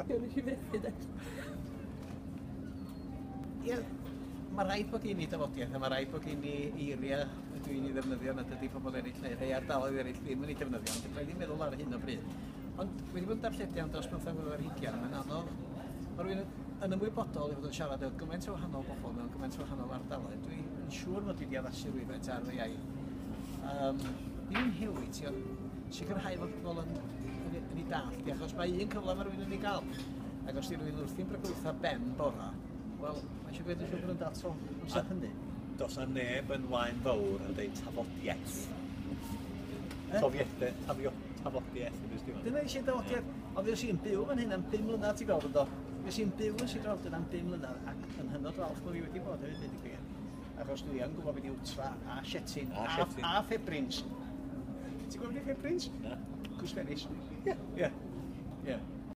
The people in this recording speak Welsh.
Ie, nes i fethu de. Ie, mae rhaid bod gen i dafodiaeth a mae rhaid bod gen i eiriau dwi'n ei ddefnyddio nad ydy pobl eraill neu rhai ardaloedd eraill ddim yn ei defnyddio, ond fedra i ddim meddwl ar hyn o bryd. Ond wedi bod yn darlledu am dros 15 mlynedd ar hugain, mae'n anodd. Mae rhywun yn ymwybodol ei fod yn siarad efo gymaint o wahanol bobl mewn gymaint o wahanol ardaloedd. Dwi'n siŵr mod i wedi addasu rhywfaint ar fy iaith. Ddim yn newid ti, ond sicrhau fod pobl yn, yn, yn ei dallt di, achos mae un cyfle mae rhywun yn ei gael. Ac os di rhywun wrthi'n brygwtha ben bora, wel, mae eisiau gwneud yn siŵr bod yn dal tro amser hynny. Does na neb yn Waun Fawr yn deud tafodiaeth. Tofiede, tafio, tafodiaeth. Dyna eisiau dafodiaeth. Ond fues i'n byw fan hyn am 5 mlynedd, ti'n gweld, yndo? Fues i'n byw yn Sir Drefaldwyn am 5 mlynedd ac yn hynod falch bod fi wedi bod hefyd, deud y gwir. Achos dwi yn gwybod beth yw wtra a shetin a, a, a ffabrins. Ti'n gwybod beth yw ffabrins? Na. Cwsferis. Ie. Ie.